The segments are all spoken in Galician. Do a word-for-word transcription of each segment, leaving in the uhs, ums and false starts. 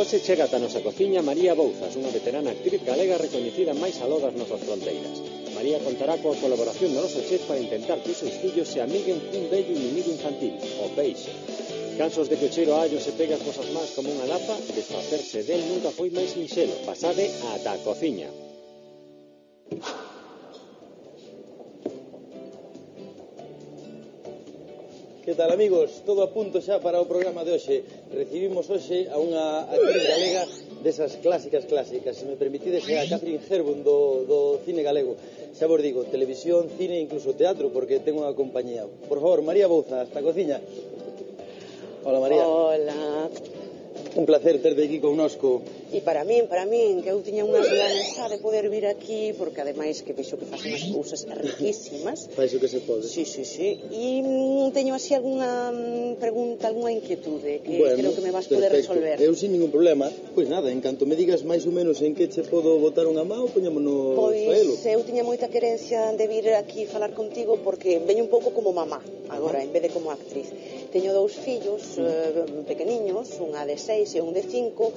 Hoxe chega ata a nosa cociña María Bouzas, unha veterana actriz galega recoñecida máis aló das nosas fronteiras. María contará coa colaboración do noso chef para intentar que os seus fillos se amiguen cun vello inimigo infantil, o peixe. Cansos de que o cheiro a allo se pega as vosas mans como unha lapa, desfacerse del nunca foi máis sinxelo. Pasade ata a cociña. Que tal, amigos? Todo a punto xa para o programa de hoxe. Recibimos hoxe a unha actriz galega desas clásicas clásicas. Se me permitides, é a Catherine Hepburn do, do cine galego. Xa vos digo, televisión, cine e incluso teatro, porque ten unha compañía. Por favor, María Bouzas, hasta a cociña. Hola, María. Hola. Un placer terte aquí connosco. E para min, para min, que eu tiña unhas ganas xa de poder vir aquí, porque ademais que vexo que faz unhas cousas riquísimas. Faz o que se pode. Sí, sí, sí. E mm, teño así algunha mm, pregunta, algunha inquietude que bueno, creo que me vas poder perfecto. resolver. Eu sin ningún problema. Pois nada, en canto me digas máis ou menos en que che podo botar unha mão, poñámonos Pois faelo. eu tiña moita querencia de vir aquí falar contigo porque veño un pouco como mamá agora, en vez de como actriz. Teño dous fillos eh, pequeniños, unha de seis e un de cinco.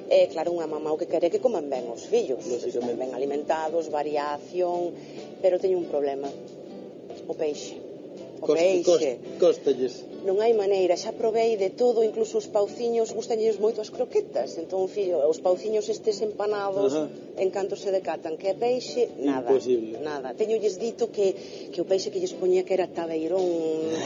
E claro, unha mamá o que quere é que coman ben os fillos, están ben alimentados, variación, pero teño un problema, o peixe. O Costa, peixe. Costalles. Non hai maneira, xa probei de todo, incluso os pauciños, gustanlles moito as croquetas, entón, fillo, os pauciños estes empanados, ajá, en canto se decatan, que é peixe, nada. Imposible. Nada. Teñolles dito que, que o peixe que lles poñía que era tabeirón,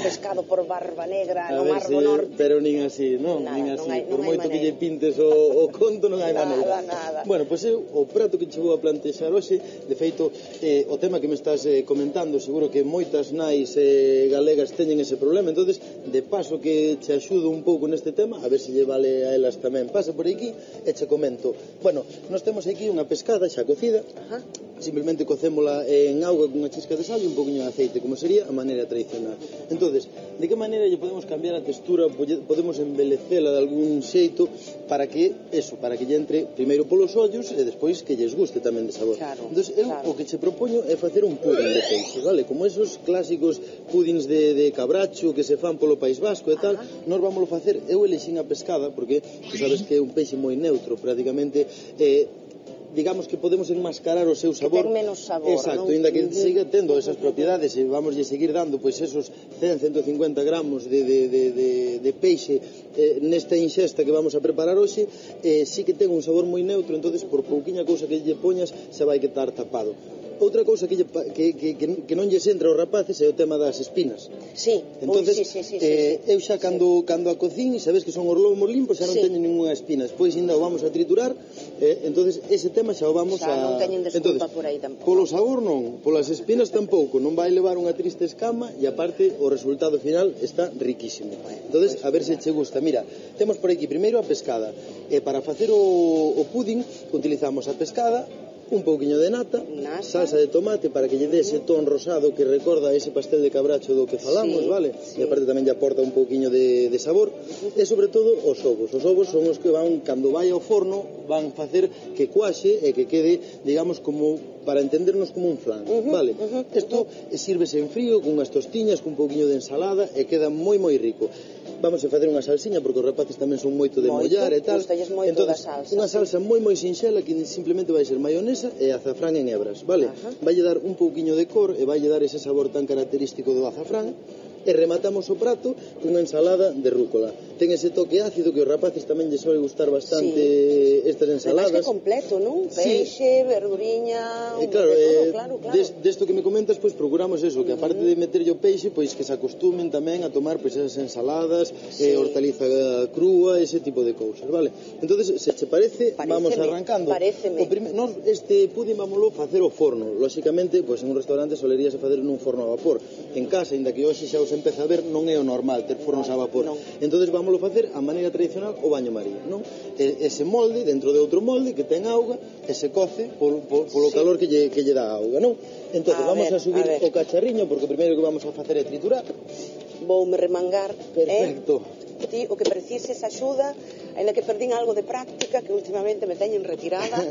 pescado por Barba Negra, a no ver, Mar si, do Norte. Pero nin así, non, nada, nin así. Non hai, por non moito hai que lle pintes o, o conto, non hai nada, maneira. Nada, Bueno, pois pues eu, o prato que che vou a plantexar hoxe, de feito, eh, o tema que me estás eh, comentando, seguro que moitas nais eh, galegas teñen ese problema, entonces de paso que che axudo un pouco neste tema, a ver se lle vale a elas tamén. Pasa por aquí e che comento. Bueno, nós temos aquí unha pescada xa cocida. Ajá. Simplemente cocémola en auga con unha chisca de sal e un poquinho de aceite, como sería a maneira tradicional. Entonces, de que maneira lle podemos cambiar a textura, podemos embelecela de algún xeito para que, eso, para que lle entre primeiro polos ollos e despois que lles guste tamén de sabor. Claro, entonces, eu claro. o que che propoño é facer un pudín de peixe, vale? Como esos clásicos pudins de, de cabracho que se fan polo País Vasco e tal. Ajá. Nós vámoslo facer, eu elexín a pescada porque tú sabes que é un peixe moi neutro, prácticamente eh, digamos que podemos enmascarar o seu sabor. Que ten menos sabor, exacto, non? Ainda que uh-huh. siga tendo esas propiedades e vamos a seguir dando pois esos cen a ciento cincuenta gramos de, de, de, de, de peixe eh, nesta inxesta que vamos a preparar hoxe, eh, sí que ten un sabor moi neutro, entonces por pouquiña cousa que lle poñas se vai quedar tapado. Outra cousa que, lle, que, que, que, que non lles entra aos rapaces é o tema das espinas. Sí, entonces, Uy, sí, sí, sí, eh, sí, sí. eu xa cando, sí. cando a cocín, sabes que son os lomos limpos, xa non sí. teñen ninguna espina. Despois ainda o vamos a triturar, eh, entonces ese tema xa o vamos xa a... non teñen desculpa entonces, por aí tampouco. Polo sabor non, polas espinas tampouco, non vai levar unha triste escama e aparte o resultado final está riquísimo. Bueno, entonces, pues, a ver se che gusta. Mira, temos por aquí primeiro a pescada. E para facer o, o pudín utilizamos a pescada, un pouquiño de nata, nata, salsa de tomate para que lle dé ese ton rosado que recorda ese pastel de cabracho do que falamos, sí, vale? Sí. E aparte tamén lle aporta un pouquiño de, de sabor. E sobre todo os ovos. Os ovos son os que van, cando vai ao forno, van facer que cuaxe e que quede, digamos, como para entendernos como un flan, uh-huh, vale? Isto uh-huh. uh-huh. sírvese en frío, con unhas tostiñas, con un pouquiño de ensalada e queda moi moi rico. Vamos a facer unha salsiña porque os rapaces tamén son moito de moito, mollar e tal. Entonces, salsa, unha salsa sí. moi moi sinxela que simplemente vai ser maionesa e azafrán en hebras, vale? Uh-huh. Vai dar un pouquiño de cor e vai dar ese sabor tan característico do azafrán. E rematamos o prato cunha ensalada de rúcola. Ten ese toque ácido que os rapaces tamén lles suele gustar bastante, sí. Estas ensaladas. Ademais que completo, non? Peixe, sí. verduriña, e claro, de todo, eh, claro, claro. Des, desto que me comentas, pois pues, procuramos eso, que aparte de meterlle o peixe, pois pues, que se acostumen tamén a tomar pois pues, esas ensaladas, sí. eh, hortaliza crúa, ese tipo de cousas, vale? Entonces, se che parece, paréceme, vamos arrancando. Paréceme. O prime, nos, este pudín vámoslo facer ao forno. Lóxicamente, pois pues, en un restaurante soleríase facer nun forno a vapor. En casa, ainda que hoxe xa os empeza a ver, non é o normal ter fornos a vapor. Non. Entonces vámoslo facer a maneira tradicional o baño María, non? E, ese molde dentro de outro molde que ten auga e se coce polo, polo, polo sí. calor que lle, que lle dá a auga, non? Entonces a vamos ver, a subir a o cacharriño porque o primeiro que vamos a facer é triturar. Voume remangar. Perfecto. Eh? Ti o que precises axuda, ainda que perdín algo de práctica que últimamente me teñen retirada.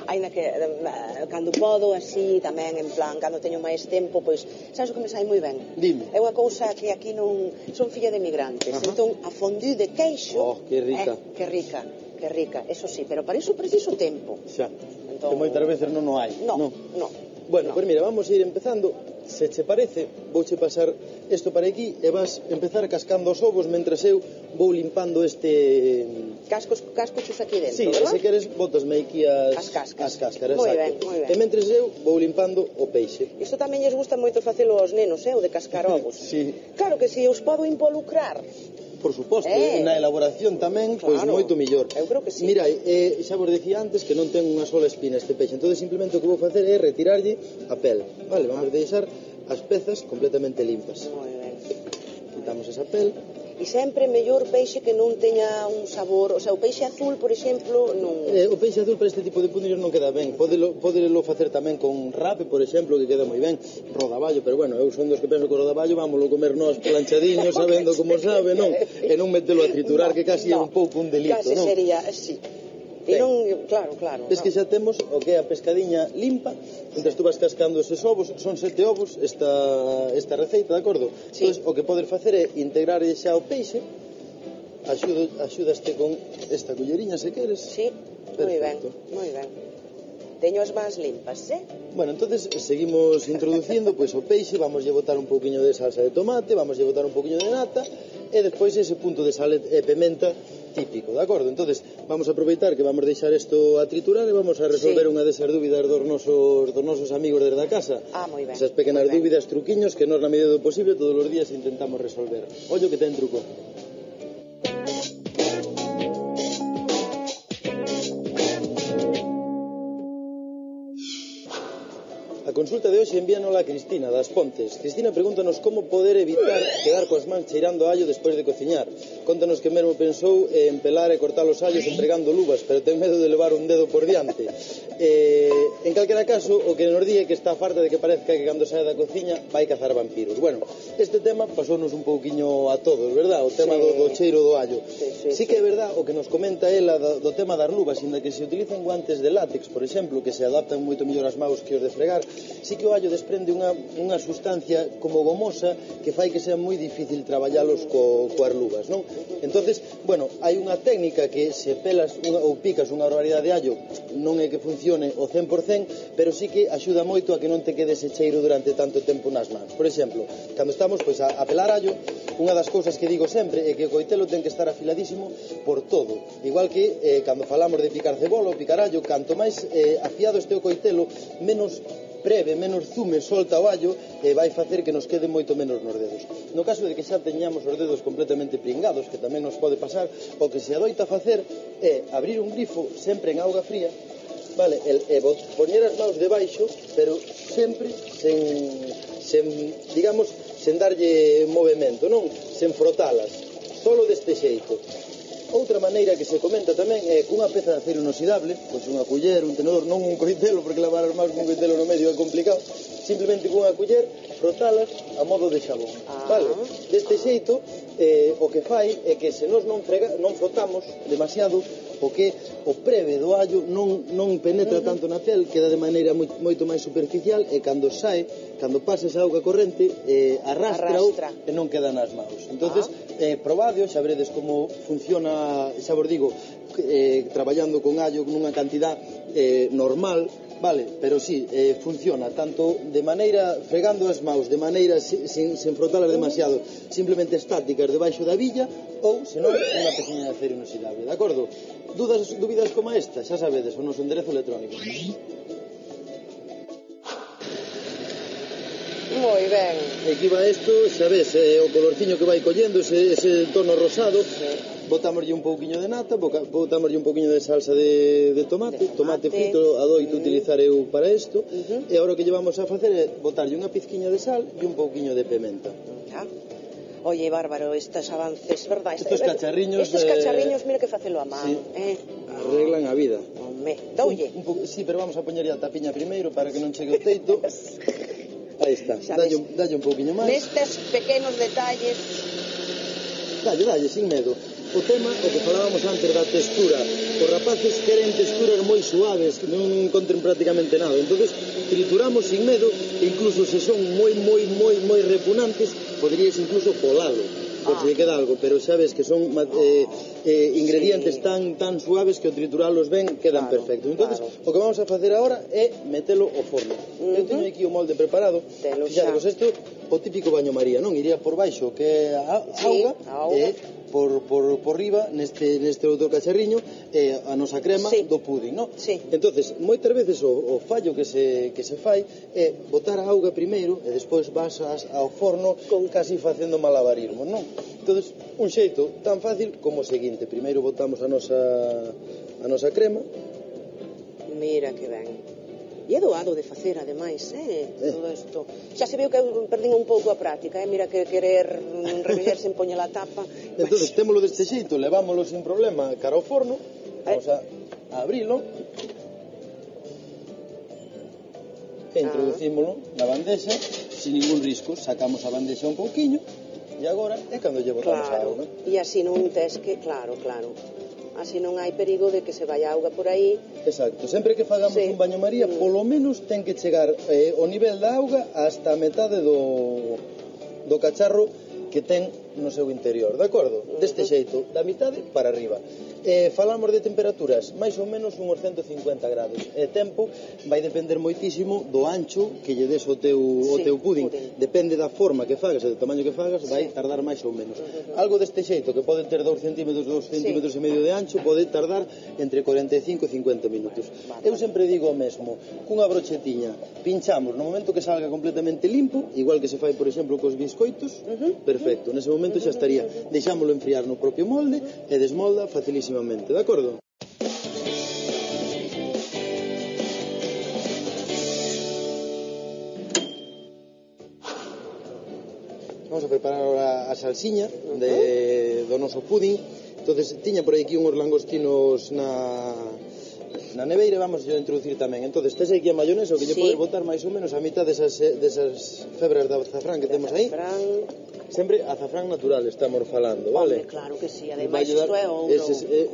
aínda que eh, cando podo, así, tamén, en plan, cando teño máis tempo, pois, sabes o que me sai moi ben? Dime. É unha cousa que aquí non... Son filla de migrantes, Ajá. entón, a fondue de queixo... Oh, que rica. Eh, que rica, que rica, eso sí, pero para iso preciso tempo. Xa, entón... que moitas veces non o hai. No, no. no. Bueno, no. Pois mira, vamos a ir empezando. Se che parece, vouche pasar isto para aquí e vas empezar cascando os ovos mentras eu vou limpando este... Cascos, cascochos aquí dentro, Sí, verdad? se queres, botasme aquí as, as cáscaras. As cáscaras, moi exacto. ben, moi ben. E mentres eu vou limpando o peixe. Isto tamén lles gusta moito facelo aos nenos, eh, o de cascar ovos. Sí. Claro que si os podo involucrar. Por suposto, eh. na elaboración tamén, Claro, pois moito millor. Eu creo que sí. Mira, eh, xa vos decía antes que non ten unha sola espina este peixe, entón simplemente o que vou facer é retirarlle a pel. Vale, vamos a deixar as pezas completamente limpas. Moi ben. Quitamos esa pel. E sempre mellor peixe que non teña un sabor, o sea, o peixe azul, por exemplo, non... Eh, o peixe azul para este tipo de punillos non queda ben. Pódelo, pódelo facer tamén con rape, por exemplo, que queda moi ben. Rodaballo, pero bueno, eu son dos que penso que o rodaballo vámoslo comer nós planchadiños, sabendo como sabe, non? E non metelo a triturar, no, que casi no. é un pouco un delito, casi non? Casi sería, sí. E non, claro, claro. Ves no. que xa temos o que é a pescadiña limpa, entón tú vas cascando eses ovos, son sete ovos esta, esta receita, de acordo? Sí. Entón, o que podes facer é integrar xa o peixe, axudo, axudaste con esta culleriña se queres. Sí, moi ben, moi ben. Teño as mans limpas, eh? Bueno, entonces seguimos introducindo pois o peixe, vamos lle botar un pouquiño de salsa de tomate, vamos lle botar un pouquiño de nata e despois ese punto de sal e pimenta típico, de acordo? Entonces vamos a aproveitar que vamos deixar isto a triturar e vamos a resolver sí. unha desas dúbidas dos nosos, dos nosos amigos desde a casa. Ah, moi ben. Esas pequenas dúbidas, truquiños que nós na medida do posible todos os días intentamos resolver. Ollo que ten truco. A consulta de hoxe envíanos a Cristina, das Pontes. Cristina pregúntanos como poder evitar quedar coas mans cheirando a allo despois de cociñar. Contanos que mesmo pensou en pelar e cortar os allos empregando luvas, pero ten medo de levar un dedo por diante. Eh, en calquera caso, o que nos di é que está farta de que parezca que cando sae da cociña vai cazar vampiros. Bueno, este tema pasounos un pouquiño a todos, verdad? O tema sí. do, do cheiro do allo. Sí, sí, sí que é verdad o que nos comenta ela do, do tema das luvas, inda que se utilizan guantes de látex, por exemplo, que se adaptan moito mellor as maus que os de fregar, sí que o allo desprende unha, unha sustancia como gomosa que fai que sea moi difícil traballalos co, coas luvas, non? Entonces, bueno, hai unha técnica que se pelas unha, ou picas unha barbaridade de allo non é que funcione o cen por cen, pero sí que axuda moito a que non te quede ese cheiro durante tanto tempo nas mans. Por exemplo, cando estamos pois, a, a pelar allo, unha das cousas que digo sempre é que o coitelo ten que estar afiladísimo por todo. Igual que eh, cando falamos de picar cebola ou picar allo, canto máis eh, afiado este o coitelo, menos breve, menos zume solta o allo e vai facer que nos quede moito menos nos dedos. No caso de que xa teñamos os dedos completamente pringados, que tamén nos pode pasar, o que se adoita facer é abrir un grifo sempre en auga fría, vale, e, e poñer as maus debaixo, pero sempre sen, sen, digamos, sen darlle movimento, non? Sen frotalas, solo deste xeito. Outra maneira que se comenta tamén é cunha peza de acero inoxidable, pois unha culler, un tenedor, non un coitelo, porque lavar as maus con un coitelo no medio é complicado, simplemente cunha culler, frotalas a modo de xabón, ah. vale? Deste xeito, eh, o que fai é que se nós non, frega, non frotamos demasiado, o que o preve do allo non, non penetra uh -huh. tanto na pel, queda de maneira moi, moito máis superficial e cando sae, cando pasa esa auga corrente, eh, arrastra, arrastra e non queda nas maus. Entonces, ah. eh, probade, xa veredes como funciona, xa vos digo, eh, traballando con allo nunha cantidad eh, normal, vale, pero sí, eh, funciona tanto de maneira, fregando as maus de maneira sin, sin frotalas demasiado, simplemente estáticas debaixo da villa, ou, senón, unha pequena de acero inoxidable, de acordo? Dudas, dúbidas como esta, xa sabedes, o noso enderezo electrónico. Moi ben. E aquí va isto, xa ves, eh, o colorciño que vai collendo, ese, ese tono rosado, sí. Botámoslle un pouquiño de nata, botámoslle un pouquiño de salsa de, de tomate, de tomate, tomate frito, adoito uh -huh. utilizar eu para isto, uh -huh. e agora o que llevamos a facer é botarlle unha pizquiña de sal e un pouquiño de pimenta. Ah. Oye, bárbaro, estes avances, verdad? Estos cacharriños... Estes cacharriños, mira que facelo a man, sí, eh? arreglan a vida. Home, doulle. Un, un po... Sí, pero vamos a poñerlle a tapiña primeiro para que non chegue o teito. Aí está, dalle, dalle un pouquiño máis. Nestes pequenos detalles... Dalle, dalle, sin medo. o tema, o que falábamos antes da textura. Os rapaces queren texturas moi suaves, que non encontren prácticamente nada. Entonces, trituramos sin medo, e incluso se son moi, moi, moi, moi repugnantes, poderías incluso colalo, por se lle queda algo, pero sabes que son eh, eh, ingredientes sí. tan tan suaves que ao trituralos ben quedan claro, perfectos. Entonces, claro. o que vamos a facer agora é metelo ao forno. Uh-huh. Eu teño aquí o molde preparado. Fixadevos, isto o típico baño María, non? Iría por baixo, que é a sí, auga, auga. e por, por, por riba, neste, neste outro cacharriño, eh, a nosa crema sí. do pudín, non? Sí. Entonces, moitas veces o, o fallo que se, que se fai é botar a auga primeiro e despois vas ao forno con casi facendo malabarismo, non? Entonces, un xeito tan fácil como o seguinte: primeiro botamos a nosa a nosa crema. Mira que ben. E é doado de facer, ademais, eh, eh. todo isto. Xa se veu que eu perdín un pouco a práctica, eh? Mira que querer revellerse en poñer a tapa. Entón, témolo deste xeito, levámoslo sin problema cara ao forno, vamos a, a abrilo, e introducímolo na bandexa, sin ningún risco, sacamos a bandexa un pouquiño, e agora é cando lle botamos claro. a auga. E así non tes que, claro, claro. Así non hai perigo de que se vai a auga por aí. Exacto, sempre que fagamos sí. un baño María, mm. polo menos ten que chegar eh, o nivel da auga hasta a metade do, do cacharro que ten no seu interior, de acordo? Mm-hmm. Deste xeito, da mitade para arriba. Eh, falamos de temperaturas, máis ou menos uns ciento cincuenta grados. E tempo vai depender moitísimo do ancho que lle des o teu, sí, o teu pudín. pudín. Depende da forma que fagas e do tamaño que fagas, vai sí. tardar máis ou menos. Uh-huh. Algo deste xeito, que pode ter dous centímetros, dous centímetros sí. e medio de ancho, pode tardar entre cuarenta e cinco e cincuenta minutos. Vale. Eu sempre digo o mesmo, cunha brochetiña, pinchamos no momento que salga completamente limpo, igual que se fai, por exemplo, cos biscoitos, uh-huh. perfecto. Nese momento xa estaría. Deixámoslo enfriar no propio molde e desmolda facilísimo. De acordo? Vamos a preparar ahora a salsiña de, do noso pudín. Entonces, tiña por aquí uns langostinos na, na neveira, vamos a introducir tamén. Entonces, tes aquí a mayonesa, o que lle sí. podes botar máis ou menos a mitad desas, desas febras de azafrán que de temos aí. Azafrán. Sempre azafrán natural estamos falando, vale? Hombre, claro que sí, ademais isto é ouro. Eses, eh,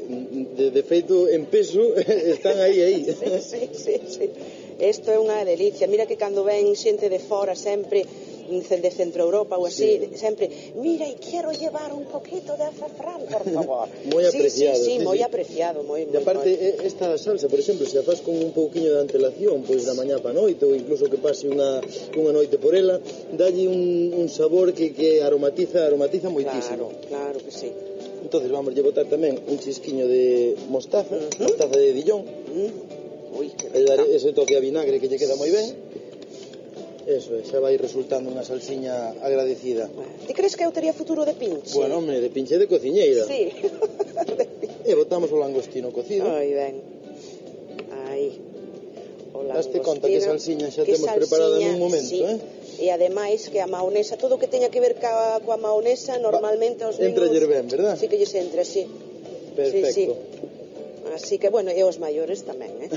de, de feito, en peso, están aí, aí. Sí, sí, sí, sí. Isto é unha delicia. Mira que cando ven xente de fora sempre de Centro Europa ou así, sí. sempre, mira, e quero llevar un poquito de azafrán, por favor. Moi apreciado. Sí, sí, sí, sí moi sí. apreciado, moi, moi. E aparte, moi. esta salsa, por exemplo, se a faz con un pouquiño de antelación, pois da mañá pa noite, ou incluso que pase unha, unha noite por ela, dalle un, un sabor que, que aromatiza, aromatiza moitísimo. Claro, claro que sí. Entonces vamos a botar tamén un chisquiño de mostaza, uh-huh. mostaza de Dijon, uh-huh. Ui, que e dar ese toque a vinagre que lle queda moi ben. Eso, xa vai resultando unha salsiña agradecida. Ti crees que eu tería futuro de pinche? Bueno, hombre, de pinche de cociñeira. Sí. E botamos o langostino cocido. Ai, ben. Ai. O langostino. Daste conta que salsiña xa temos salsiña, preparada nun momento, sí. eh? E ademais que a maonesa, todo o que teña que ver ca, coa maonesa, normalmente os niños... Entra ller ben, verdad? Sí que lles entra, sí. Perfecto. Sí, sí. Así que, bueno, e os maiores tamén, eh?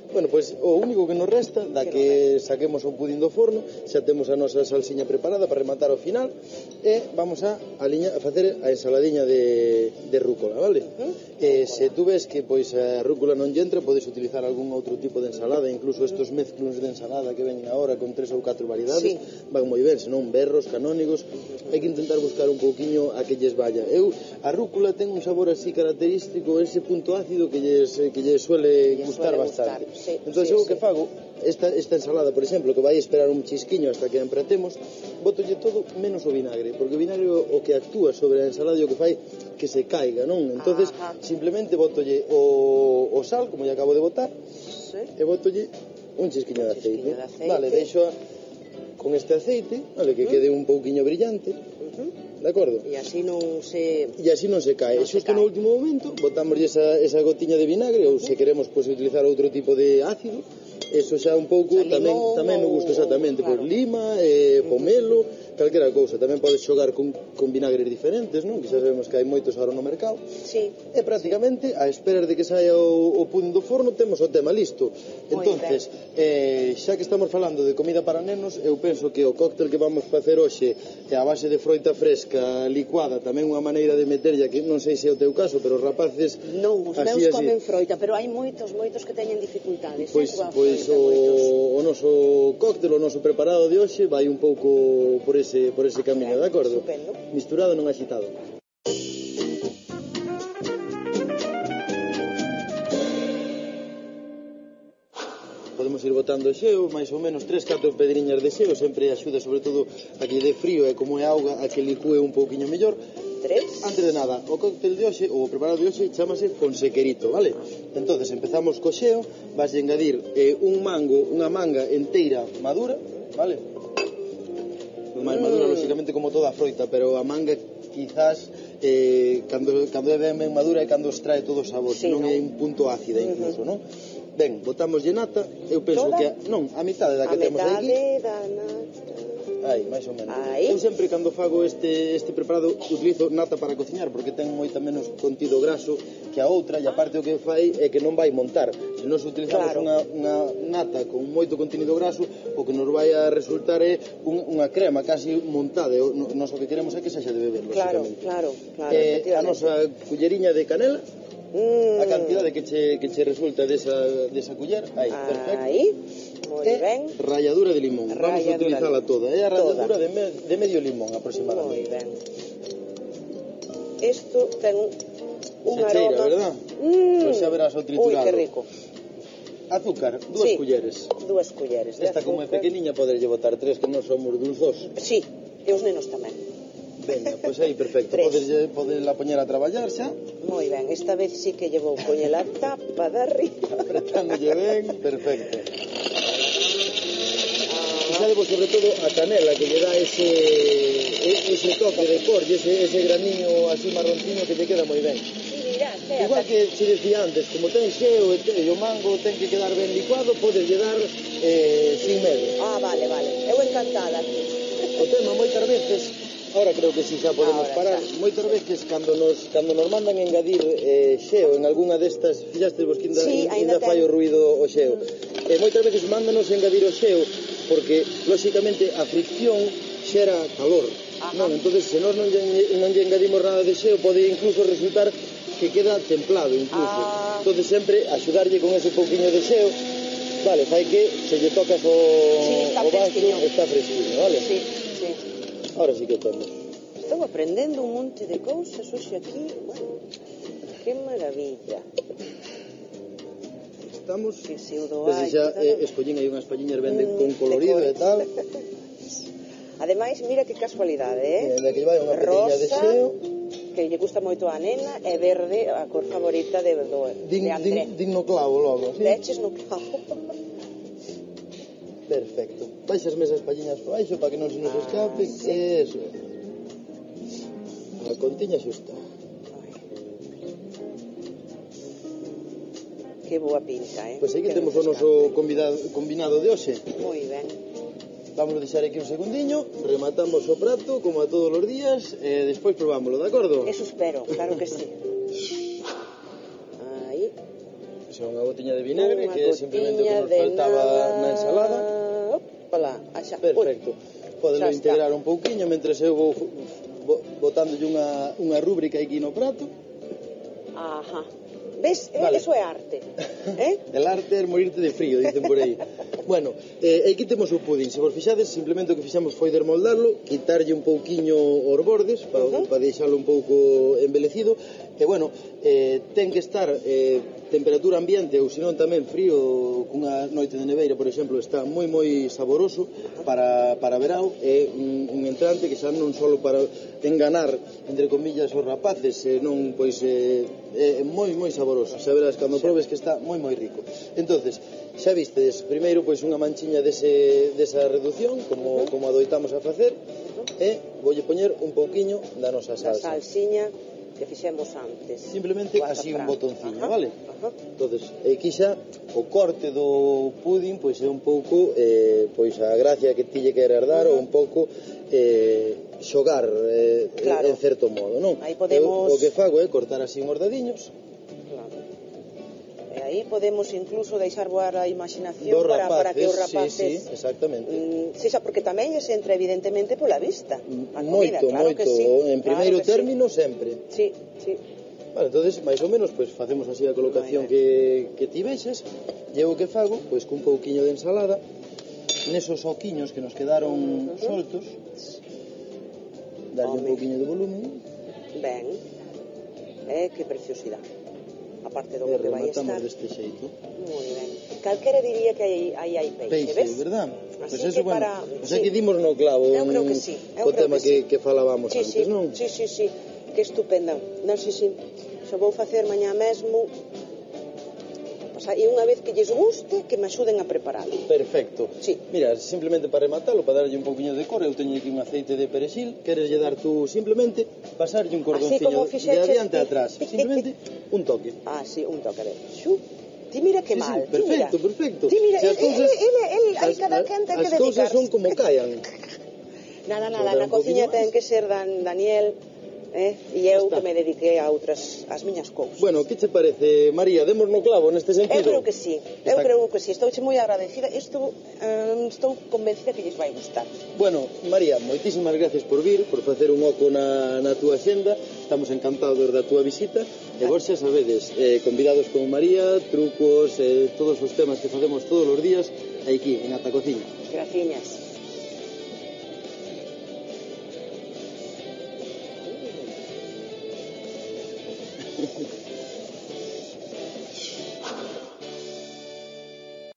Bueno, pois pues, o único que nos resta da que saquemos o pudín do forno, xa temos a nosa salsiña preparada para rematar ao final e vamos a, a, liña, a facer a ensaladiña de, de rúcula, vale? Uh-huh. E se tú ves que pois a rúcula non lle entra, podes utilizar algún outro tipo de ensalada, incluso estos mezclos de ensalada que ven agora con tres ou catro variedades, sí. van moi ben, senón berros, canónigos, hai que intentar buscar un pouquiño a que lles vaya. Eu, a rúcula ten un sabor así característico, ese punto ácido que lles, que lles suele que gustar suele bastante. Gustar. Sí, entón, sí, eu sí. que fago esta, esta ensalada, por exemplo, que vai esperar un chisquiño hasta que a empratemos, botolle todo menos o vinagre, porque o vinagre o que actúa sobre a ensalada e o que fai que se caiga, non? Entonces, ajá. simplemente botolle o, o sal, como lle acabo de botar, sí. e botolle un chisquiño de aceite. de aceite. Vale, deixo a, con este aceite, vale, que uh-huh. quede un pouquiño brillante. Uh-huh. De acordo? E así non se... E así non se cae. Non Xusto se cae. no último momento, botamos esa, esa gotiña de vinagre, ou se queremos pues, utilizar outro tipo de ácido, eso xa un pouco tamén tamén me gusta exactamente, pois lima, eh, pomelo, calquera cousa. Tamén podes xogar con, con vinagres diferentes, non? Que xa sabemos que hai moitos agora no mercado. Sí. E prácticamente, a esperar de que saia o, o pudín do forno, temos o tema listo. Entonces, eh, xa que estamos falando de comida para nenos, eu penso que o cóctel que vamos facer hoxe é a base de froita fresca licuada, tamén unha maneira de meterlla, que non sei se é o teu caso, pero os rapaces... Non, os así, meus así. comen froita, pero hai moitos, moitos que teñen dificultades. Pois, pois o, o noso cóctel, o noso preparado de hoxe vai un pouco por ese, por ese camiño, de acordo? Estupendo. Misturado, non agitado. Podemos ir botando xeo, máis ou menos tres, catro pedriñas de xeo, sempre axuda sobre todo a que lle dé frío e como é auga a que licúe un pouquiño mellor. Tres. Antes de nada, o cóctel de hoxe, ou o preparado de hoxe, chamase con sequerito, vale? Entonces empezamos co xeo, vas a engadir eh, un mango, unha manga enteira madura, vale? Máis madura, mm. lógicamente, como toda a froita, pero a manga quizás eh, cando, cando é ben, ben madura é cando extrae todo o sabor, sí, senón no? É un punto ácida incluso, uh -huh. non? Ben, botamos de nata, eu penso toda? que... Non, a mitade da que a temos aquí. A metade da nata... Aí, máis ou menos. Aí. Eu sempre cando fago este, este preparado utilizo nata para cociñar porque ten moita menos contido graso que a outra e aparte o que fai é que non vai montar. Se nós utilizamos claro. unha, unha nata con moito contido graso, o que nos vai a resultar é un, unha crema casi montada. O, nos o que queremos é que sexa de beber, claro, lógicamente. claro, claro. Eh, a nosa culleriña de canela, mm. a cantidade que che, que che resulta desa, desa culler, aí, perfecto. Aí. Moi ben. Ralladura de limón. Vamos a utilizarla toda. É a ralladura de, me, de medio limón aproximadamente. Moi ben. Isto ten un se aroma... cheira, verdad? Mm. Pois xa verás o triturado. Ui, que rico. Azúcar, dúas sí, culleres. Dúas culleres de Esta azúcar. como é pequeniña poderlle botar tres, que non somos dulzos. Sí, e os nenos tamén. Veña, pois aí, perfecto. Podes, poderla poñer a traballar xa. Moi ben, esta vez sí que llevou poñer a tapa de arriba. Apretándolle ben, perfecto. Fixadevos sobre todo a canela que lle dá ese, ese toque de cor e ese, ese graniño así marronciño que lle queda moi ben. Igual que se decía antes, como ten xeo e o mango ten que quedar ben licuado, podes lle dar eh, sin medo. Ah, vale, vale, eu encantada. O tema moitas veces, ahora creo que si xa podemos ahora parar, xa. Moitas veces cando nos, cando nos mandan engadir eh, xeo en algunha destas, fixastes vos que ainda, sí, ainda fai o ruido o xeo, mm. eh, moitas veces mándanos engadir o xeo porque, lóxicamente, a fricción xera calor. Ajá. Non, entonces se nós non lle, non lle engadimos nada de xeo pode incluso resultar que queda templado incluso. Ah. Entonces sempre axudarlle con ese pouquiño de xeo, vale, fai que se lle tocas o, sí, o vaso, está fresquinho, vale? Sí, sí. Ahora sí que temos. Estou aprendendo un monte de cousas hoxe aquí, bueno, que maravilla. Estamos, que pseudo desde xa eh, escollín aí unhas palliñas ben mm, con colorido e tal. Ademais, mira que casualidade, eh? De que vai unha petiña de xeo. Que lle gusta moito a nena, e verde, a cor favorita de, do, din, de André. Din, din no clavo logo, ¿sí? Leches no clavo. Perfecto. Baixas mesas palliñas por baixo para que non se nos ah, escape. Sí. Eso. A contiña xusta. Que boa pinta, eh? Pois pues aquí temos o noso combinado, combinado de hoxe. Moi ben. Vamos a deixar aquí un segundiño, rematamos o prato, como a todos os días, e despois probámoslo, de acordo? Eso espero, claro que sí. Aí. Xa unha botiña de vinagre, unha que é simplemente o que nos faltaba nada... na ensalada. Opala, xa. Perfecto. Podelo integrar un pouquiño, mentres eu vou botándolle unha, unha rúbrica aquí no prato. Ajá. Ves? Vale. Eso é arte. Eh? El arte é morirte de frío, dicen por aí. Bueno, eh, aquí temos o pudín. Se vos fixades, simplemente o que fixamos foi desmoldarlo, quitarlle un pouquiño os bordes para uh -huh. pa deixalo un pouco embelecido. E bueno, eh, ten que estar eh, temperatura ambiente ou senón tamén frío, cunha noite de neveira, por exemplo, está moi moi saboroso para, para verao. É un, un entrante que xa non só para enganar, entre comillas, os rapaces, senón, pois, eh, é moi moi saboroso. Xa verás cando probes que está moi moi rico. Entonces, xa vistes, primeiro pois unha manchiña dese, desa reducción, como, como adoitamos a facer, e voulle poñer un pouquiño da nosa salsa. Da salsiña. que fixemos antes. Simplemente O así un azafrán. botonciño, Ajá, vale? ajá. Entonces, aquí xa o corte do pudín pois é un pouco eh, pois a gracia que ti lle queres dar ou un pouco eh, xogar eh, Claro. en certo modo, non? Aí podemos- Eu, o que fago é cortar así uns dadiños Claro. E aí podemos incluso deixar voar a imaginación dos para, para que os rapaces, sí, rapaces sí, exactamente. mm, sexa porque tamén lles entra evidentemente pola vista a comida, Moito, claro moito, que sí, en claro primeiro que término sempre. sí. Sí, sí. Vale, entonces, máis ou menos, pois facemos así a colocación Moi que, que ti vexes. E eu o que fago, pois cun pouquiño de ensalada, nesos oquiños que nos quedaron Ujú. soltos, darlle un Home. pouquiño de volumen Ben, eh, que preciosidade. Aparte do e que vai rematamos estar. deste xeito. Moi ben. Calquera diría que aí aí hai peixe, Peixe, ves? verdad? Así Pois eso, que bueno, para- pois sí. aquí dimos no clavo Eu creo que en- sí, eu co creo tema que que, que falábamos Sí, antes, sí, non? sí, sí, sí, que estupendo. Non, sí, sí. Xo vou facer mañá mesmo. Pasa, e unha vez que lles guste, que me axuden a preparalo. Perfecto. Sí. Mira, simplemente para rematarlo, para darlle un pouquiño de cor, eu teño aquí un aceite de perexil, queres lle dar tú simplemente pasarlle un cordonciño como de fixeches adiante ti. a atrás, simplemente un toque. Ah, sí, un toque de xu. Ti mira que Sí, mal, sí, ti mira. perfecto, perfecto. Ti mira, Si el, as cousas- el, el, el, hai as- cada quen ten que As cousas dedicarse. son como cayan. Nada, nada, Sobrar na un poquinho cociña máis. ten que ser Dan, Daniel, eh? E eu está. que me dediquei a outras, as miñas cousas. Bueno, que che parece, María? Demos no clavo neste Eu sentido? creo que sí, eu Está- creo que sí, estou moi agradecida, estou, eh, estou convencida que lles vai gustar. Bueno, María, moitísimas gracias por vir, por facer un oco na, na túa xenda. Estamos encantados da túa visita. E vos xa sabedes, eh, convidados con María, trucos, eh, todos os temas que facemos todos os días aquí, en Ata Cociña. Graciñas. Gracias.